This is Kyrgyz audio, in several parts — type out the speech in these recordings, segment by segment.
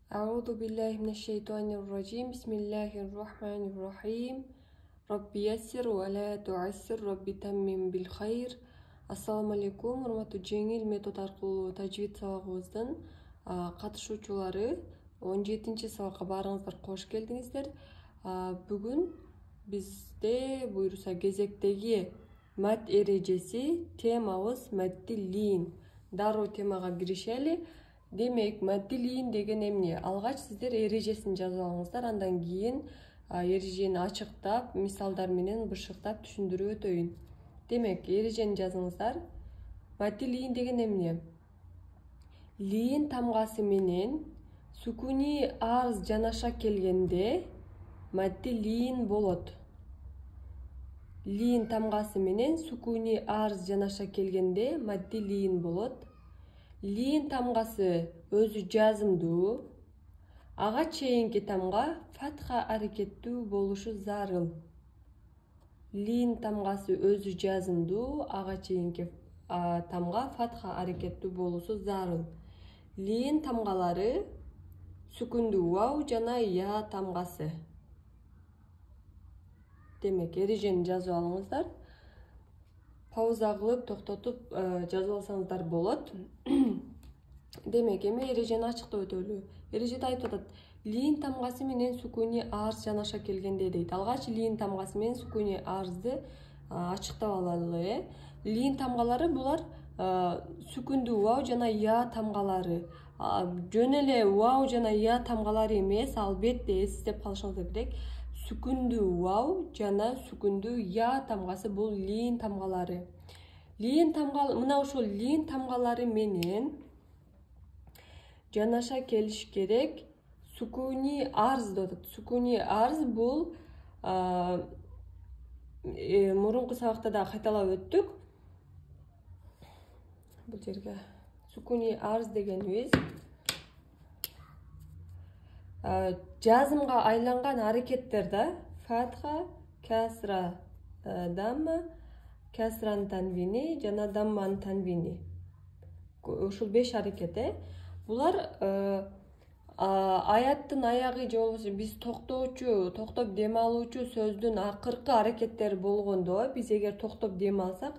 أعوذ بالله من الشيطان الرجيم بسم الله الرحمن الرحيم ربي يسر ولا تعسر ربي تمم بالخير. Assalamu alaikum, урматтуу жеңил метод аркылуу тажвид сабагыбыздын катышуучулары. 17-сабакка баарыңыздар кош келдиңиздер. Бүгүн бизде буюрса кезектеги мат эрежеси темабыз маттилин. Дароо темага киришели. Демек, маттилин деген эмне? Алгач сиздер эрежесин жазып алыңыздар, андан кийин эрежени ачыктап, мисалдар менен бышыктап түшүндүрүп өтөйүн. Демек, эрежени жазыңыздар. Маттилин деген эмне? Лин тамгасы менен сукуни арз жанаша келгенде маттилин болот. Лин тамгасы менен сукуни арз жанаша келгенде маттилин болот. Лин тамгасы өзү жазымдуу, ага чейинки тамга фатха аракеттүү болушу зарыл. Лин тамгасы өзү жазымдуу, ага чейинки тамга фатха аракеттүү болушу зарыл. Лин тамгалары сукундуу вау жана я тамгасы. Демек, эрежени жазып алыңыздар. Пауза кылып, токтотуп жазып алсаңыздар болот. Демек, эми эрежени ачыктап өтөлү. Эрежеде айтып атат: лин тамгасы менен сукуни арз жанаша келгенде дейт. Алгач лин тамгасы менен сукуни арзды ачыктап алалы. Лин тамгалары булар сукундуу вау жана я тамгалары. Жөн эле вау жана я тамгалары эмес, албетте эстеп калышыңыздар керек. Сукундуу вау жана сукундуу я тамгасы бул лин тамгалары. Мына ушул лин тамгалары менен жанаша келиш керек сукуни арз деп атат. Сукуни арз бул мурунку сабакта да кайталап өттүк. Бул жерге сукуни арз дегенибиз жазымга айланган аракеттер да. Фатха, касра, дамма, касран танвини жана дамман танвини. Ушул 5 аракет. Булар аяттын аягы же болбосо биз токтоп дем алуучу сөздүн акыркы аракеттери болгондо, биз эгер токтоп дем алсак,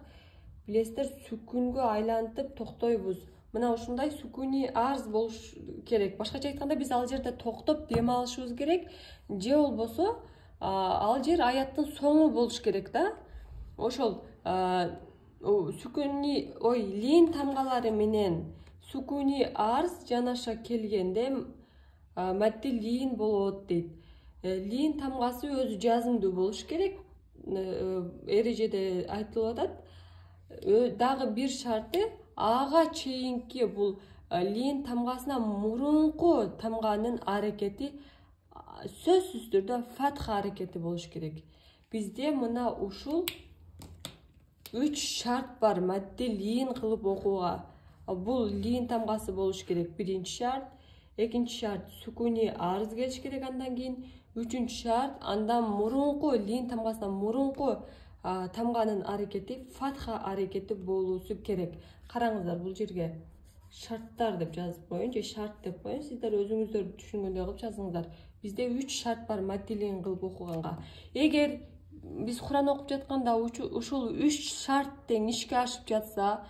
билесиздер, сүкүнгө айлантып токтойбуз. Мына ушундай сукуни арз болуш керек. Башкача айтканда, биз ал жерде токтоп дем алышыбыз керек, же болбосо ал жер аяттын соңу болуш керек да. Ошол лин тамгалары менен сукуни арз жанаша келгенде маттилин болот дейт. Лин тамгасы өзү жазымдуу болуш керек. Эрежеде айтылып атат. Дагы бир шарты, ага чейинки бул лин тамгасына мурунку тамганын аракети сөзсүз түрдө фатха аракети болуш керек. Бизде мына ушул 3 шарт бар маттилин кылып окууга. Бул лин тамгасы болуш керек, биринчи шарт. Экинчи шарт, сукуни арз келиш керек андан кийин. Үчүнчү шарт, андан мурунку лин тамгасына мурунку тамганын аракети фатха аракети болуусу керек. Караңыздар, бул жерге шарттар деп жазып коеюн же шарт деп коеюн. Сиздер өзүңүздөр түшүнгөндөй кылып жазыңыздар. Бизде 3 шарт бар маттилин кылып окуганга. Эгер биз Куран окуп жатканда ушул 3 шарт тең ишке ашып жатса,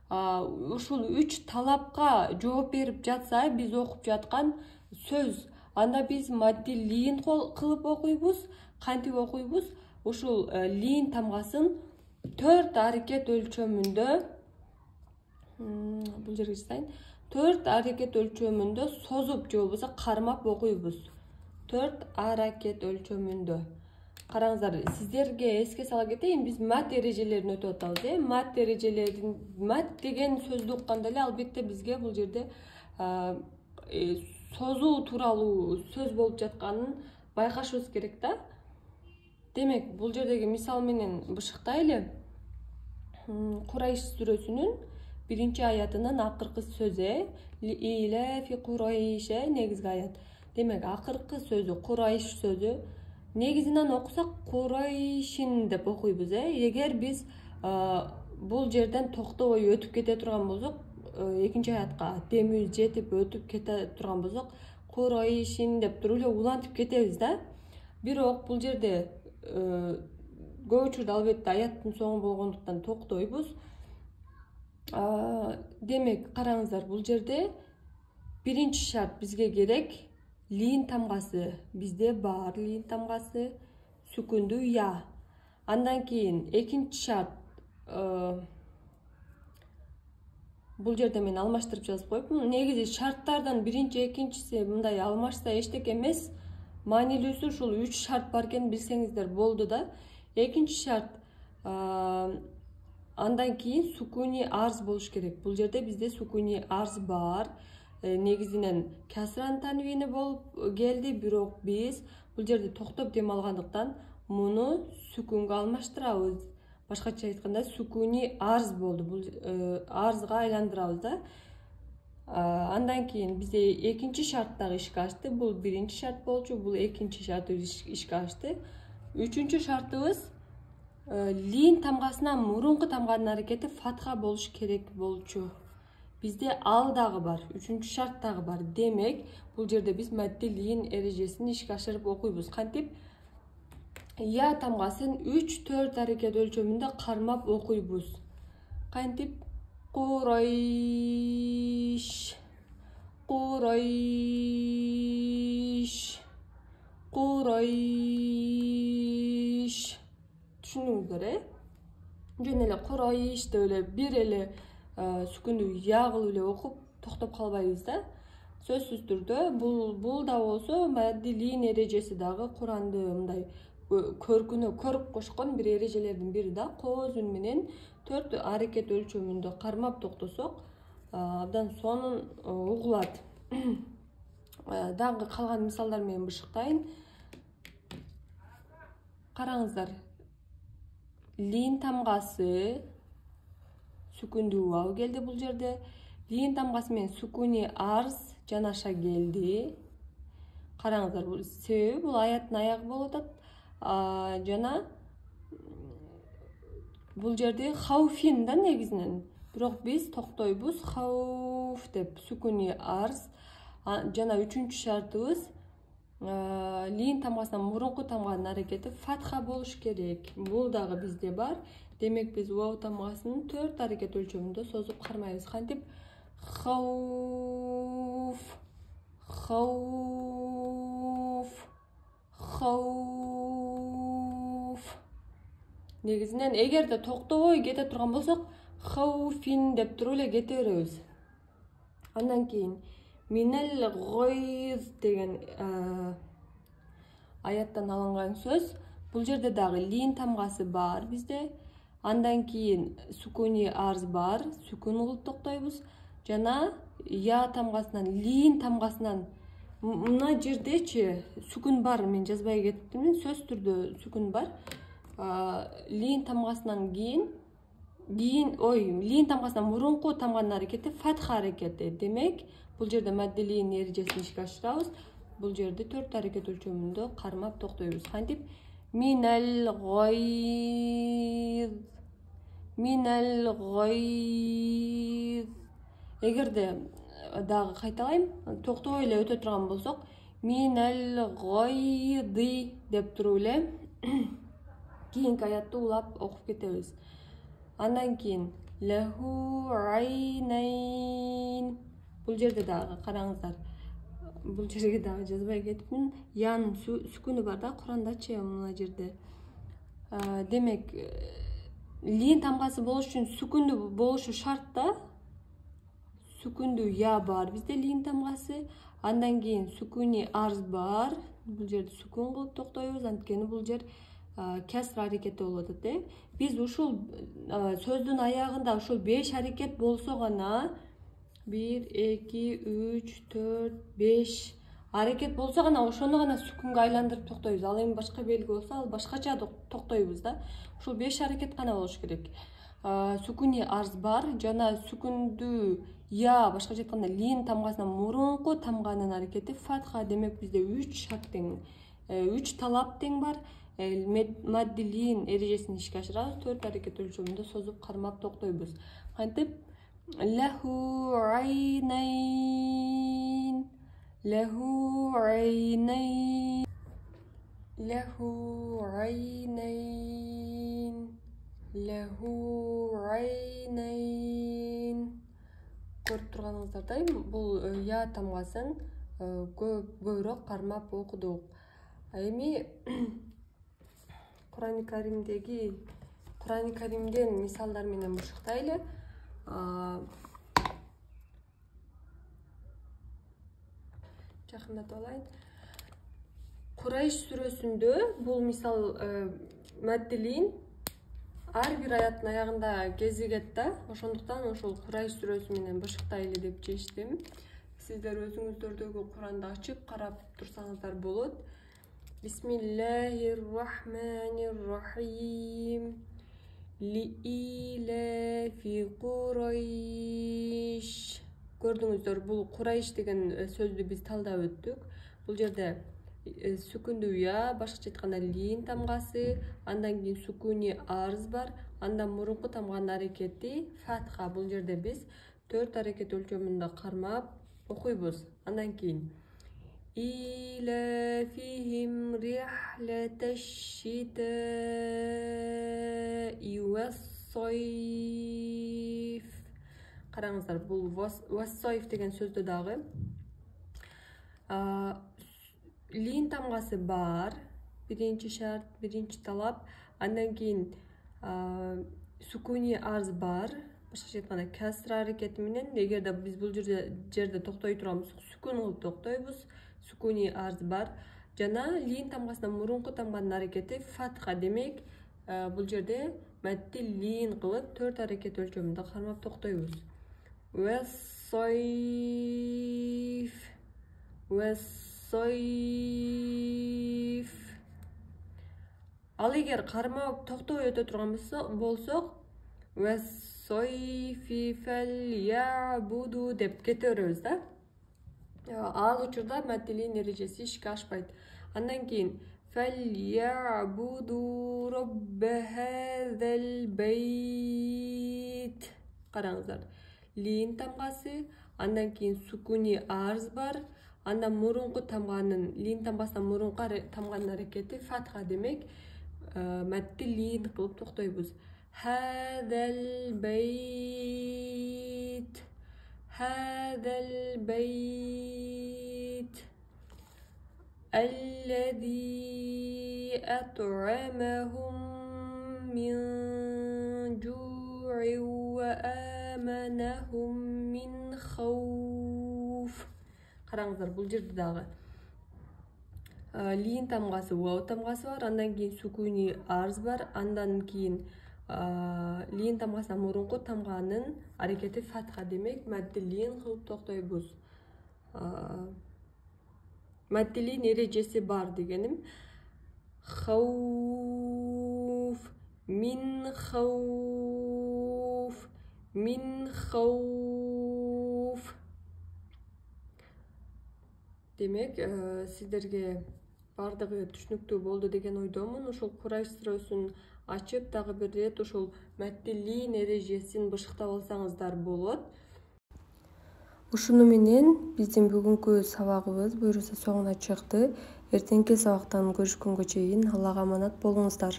ушул 3 талапка жооп берип жатса, биз окуп жаткан сөз, анда биз маттилин кылып окуйбуз. Кантип окуйбуз? Ушул лин тамгасын 4 аракет өлчөмүндө, бул жерге жазайын, 4 аракет өлчөмүндө созуп же болбосо кармап окуйбуз. 4 аракет өлчөмүндө. Караңыздар, сиздерге эске сала кетейин, биз мат эрежелерин өтүп атабыз. Мат эрежелерин, мат деген сөздү укканда эле албетте бизге бул жерде созуу тууралуу сөз болуп жатканын байкашыбыз керек да. Демек, бул жердеги мисал менен бышыктайлы. Курайш сүрөсүнүн 1-аятынын акыркы сөзү, иле фи Курайш негизги аят. Демек, акыркы сөзү, Курайш сөзү. Негизинен окусак Курайшин деп окуйбуз. Эгер биз бул жерден токтобой өтүп кете турган болсок, экинчи аятка демибиз жетип өтүп кете турган болсок, курайшин деп туруп эле улантып кетебиз да. Бирок бул жерде көп учурда албетте аяттын соңу болгондуктан токтойбуз. Демек караңыздар, бул жерде биринчи шарт бизге керек лин тамгасы. Бизде бар лин тамгасы, сүкүндүү я. Андан кийин экинчи шарт, бул жерде мен алмаштырып жазып коюпмун. Негизи шарттардан биринчи, экинчиси мындай алмашса эчтеке эмес. Маанилүүсү ушул 3 шарт бар экенин билсеңиздер болду да. Экинчи шарт, андан кийин сүкүни арз болуш керек. Бул жерде бизде сүкүни арз бар. Негизинен касран танвини болуп келди, бирок биз бул жерде токтоп дем алгандыктан муну сүкүнгө алмаштырабыз. Башкача айтканда сүкүни арз болду. Бул арзга айландырабыз да. Андан кийин бизде экинчи шарт дагы ишке ашты. Бул биринчи шарт болчу, бул экинчи шарт ишке ашты. Үчүнчү шартыбыз лин тамгасына мурунку тамганын аракети фатха болуш керек болчу. Бизде ал дагы бар, үчүнчү шарт дагы бар. Демек, бул жерде биз мадди лин эрежесин ишке ашырып окуйбуз. Кантип? Я тамгасын 3-4 аракет өлчөмүндө кармап окуйбуз. Кантип? Курайш, курайш, курайш. Түшүндүңүздөр, жөн эле курайш деп эле бир эле сүкүндүү я кылып эле окуп токтоп калбайбыз да. Сөзсүз түрдө бул да болсо мадди лин эрежеси дагы Куранды мындай көркүнө көрүп кошкон бир эрежелердин бири да. Кооз үн менен 4 аракет өлчөмүндө кармап токтосок, абдан сонун угулат. Дагы калган мисалдар менен бышыктайын. Караңыздар. Лин тамгасы сүкүндүү вау келди бул жерде. Лин тамгасы менен сүкүни арз жанаша келди. Караңыздар, бул себеби бул аяттын аягы болуп атат. Жана бул жерде хауфин да негизинен. Бирок биз токтойбуз хауф деп, сүкүни арз. Жана үчүнчү шартыбыз лин тамгасынан мурунку тамганын аракети фатха болуш керек. Бул дагы бизде бар. Демек биз вау тамгасын 4 аракет өлчөмүндө созуп кармайбыз. Кантип? Хауф, хауф, хауф. Негизинен эгерде токтобой кете турган болсок, хауфин деп туруп эле кете беребиз. Андан кийин минел гойз деген аяттан алынган сөз. Бул жерде дагы лин тамгасы бар бизде. Андан кийин сүкүни арз бар, сүкүн кылып токтойбуз. Жана я тамгасынан, лин тамгасынан мына жердечи сүкүн бар, мен жазбай кеттим, сөз түрдө сүкүн бар. Лин тамгасынан лин тамгасынан мурунку тамганын аракети фатха аракети. Демек, бул жерде мадди лин эрежесин ишке ашырабыз. Бул жерде 4 аракет өлчөмүндө кармап токтойбуз. Кантип? Минел гойз, минел гойз. Эгерде дагы кайталайм, токтобой эле өтө турган болсок, минел гойди деп туруп эле кийинки аятты улап окуп кетебиз. Андан кийин лаху айнайн. Бул жерде дагы караңыздар. Бул жерге дагы жазбай кетипмин. Янын сүкүнү бар да Курандачы мына жерде. Демек, лин тамгасы болуш үчүн сүкүндүү болушу шарт да. Сүкүндүү я бар бизде лин тамгасы. Андан кийин сүкүни арз бар. Бул жерде сүкүн кылып токтойбуз, анткени бул жер каср аракети болуп атат. Биз ушул сөздүн аягында ушул 5 аракет болсо гана 1, 2, 3, 4, 5 аракет болсо гана ошону гана сүкүнгө айландырып токтойбуз. Ал эми башка белги болсо, ал башкача токтойбуз да. Ушул 5 аракет гана болуш керек. Сүкүни арз бар, жана сүкүндүү я, башкача айтканда лин тамгасынан мурунку тамганын аракети фатха. Демек бизде 3 шарт тең, 3 талап тең бар. Мадди лин эрежесин ишке ашырабыз, 4 аракет өлчөмүндө созуп кармап токтойбуз. Кантип? Лаху айнайн, Лаху айнайн. Лаху айнайн. Лаху айнайн. Көрүп турганыңыздардай бул я тамгасын көбүрөөк кармап окудук. Эми Кур'ан-ы Каримден мисалдар менен бушуктайлы. Жакындатып алайын. Курайш сүрөсүндө бул мисал мәддилин ар бир аяттын аягында кезигет да. Ошондуктан ошол Курайш сүрөсү менен бышыктайлы деп чечтим. Сиздер өзүңүздөрдөгү Куранды ачып карап турсаңыздар болот. Бисмиллахир-рахманир-рахим. Лиилафи Курайш. Көрдүңүздөр, бул Курайш деген сөздү биз талдап өттүк. Бул жерде сүкүндүү я, башкача айтканда лин тамгасы, андан кийин сүкүни арз бар, андан мурунку тамганын аракети фатха. Бул жерде биз 4 аракет өлчөмүндө кармап окуйбуз. Андан кийин илафихим рихлаташ-шитаи вас-сайф. Караңыздар, бул вас-сайф деген сөздө дагы лин тамгасы бар. Биринчи шарт, биринчи талап. Андан кийин сүкүни арз бар. Башкача айтканда касра аракети менен. Эгерде биз бул жерде токтой турган болсок, сүкүн кылып токтойбуз. Сүкүни арз бар. Жана лин тамгасынан мурунку тамганын аракети фатха. Демек, бул жерде мәдди лин кылып 4 аракет өлчөмүндө кармап токтойбуз. Вас-сайф. Вас-сайф. Ал эгер кармап токтой өтө турган болсок, вас-сайфи фальябуду деп кете беребиз да. Ал учурда мәддилин эрежеси ишке ашпайт. Андан кийин фальябуду робба хазал байт. Караңыздар, лин тамгасы, андан кийин сүкүни арз бар, андан мурунку тамганын, лин тамгасынан мурунку тамганын аракети фатха. Демек, мәдди лин кылып токтойбуз. Хазал байт. Хазал байт. Аллади ат'амахум мин жу'ин ва аманахум мин хауф. Караңыздар, бул жерде дагы лин тамгасы, вау тамгасы бар, андан кийин сүкүни арз бар, андан кийин лин тамгасынан мурунку тамганын аракети фатха. Демек, мәдди лин кылып токтойбуз. Мәдди лин эрежеси бар дегеним. Хауф, мин хауф, мин хауф. Демек, сиздерге бардыгы түшүнүктүү болду деген ойдомун. Ошол Курайш сүрөсүн ачып дагы бир рет ошол мәдди лин эрежесин бышыктап алсаңыздар болот. Ушуну менен биздин бүгүнкү сабагыбыз буюрса соңуна чыкты. Эртеңки сабактан көрүшкөнгө чейин Аллага аманат болуңуздар.